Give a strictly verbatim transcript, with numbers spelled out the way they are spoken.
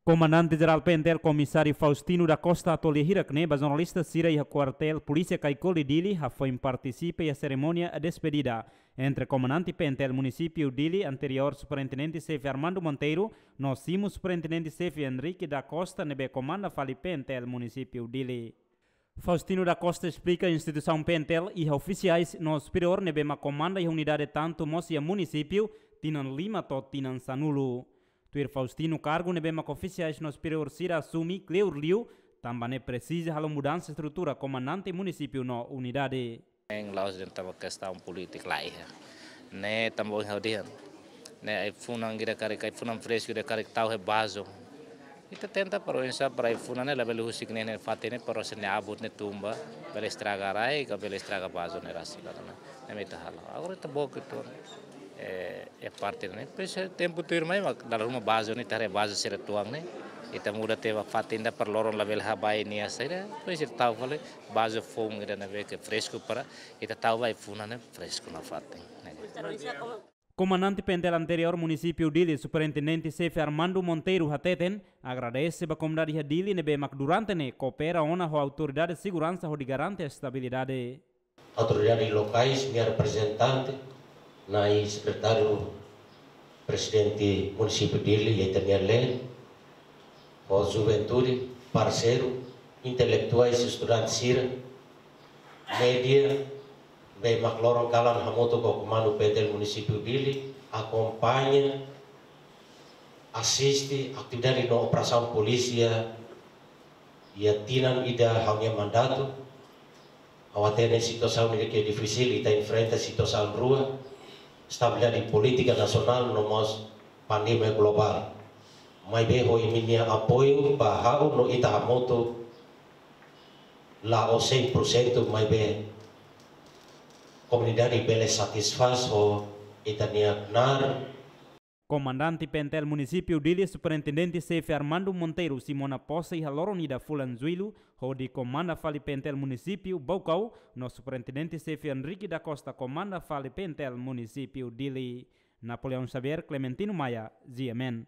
Komandante Jerál P N T L Komisáriu Faustino da Costa hato'o lia hirak-ne'e ba jornalista sira iha Kuartél Polísia Caicoli Dili, hafoin partisipa iha serimónia despedida entre Komandante P N T L Munisípiu Dili anteriór Superintendente Xefe Armando Monteiro no simu Superintendente Xefe Henrique da Costa ne'ebé komanda fali P N T L Munisípiu Dili. Faustino da Costa esplika instituisaun P N T L iha ofisiais no superiór ne'ebé mak komanda iha unidade tantu mós iha munisípiu tinan lima to'o tinan sanulu. Tuir Faustino, kargu ne'ebé mak ofisiais no superiór sira asume kleur liu, tanba ne'e presiza halo mudansa estrutura komandante munisípiu no unidade. Ne'e la'ós de'it tanba kestaun polítika, la iha. Ne'e tanba ohin ha'u dehan, ne'e ai-funan ida karik, ai-funan fresku ida karik tau iha bazu. Ita tenta para oinsá para ai-funan ne'e labele husik ne'e, ne'e fatin ne'e para sira-nia abut ne'e tun ba, bele estraga rai, ka bele estraga bazu ne'e rasik, ka ne'e, ne'e mak ita halo. Agora ita book uitoan, eh, iha parte ne'e. Depois, eh, tempu tuirmai mak dala ruma bazu ne'e, ita haree bazu sira tuan ne'e, ita muda tiha ba fatin ida para loron labele habai nia saida, depois ita tau fali bazu foun ida ne'ebé ke fresku para ita tau ba ai-funan ne'e fresku nafatin. Komandante P N T L anteriór Munisípiu Dili, Superintendente Xefe Armando Monteiro hateten, agradese ba komunidade iha Dili ne'ebé mak durante ne'e koopera ona ho autoridade seguransa hodi garante estabilidade. Autoridade lokais, nia reprezentante, Na'i Sekretáriu Prezidente Munisípiu Dili, iha ita-nia leet, ho juventude, parseiru, intelektuais, estudante sira, média, ne'ebé mak loron kalan hamutuk ho Komandu P N T L Munisípiu Dili, akompaña, asiste atividade no operasaun polísia iha tinan ida ha'u-nia mandatu. Ha'u hatene situasaun ne'e ke difisil, ita enfrenta situasaun rua, estabilidade polítika nasionál no mós pandemia globál. Maibé ho imi-nia apoiu ba ha'u no ita hamutuk, la'ós sein por sentu, maibé komunidade bele satisfás ho ita-nia knaar. Komandante P N T L Munisípiu Dili, Superintendente Xefe Armando Monteiro, simu ona pose iha loron ida fulan Jullu, hodi komanda fali P N T L Munisípiu Baucau, no Superintendente Xefe Henrique da Costa komanda fali P N T L Munisípiu Dili. Napoleão Xavier, Clementino Maia, G M N.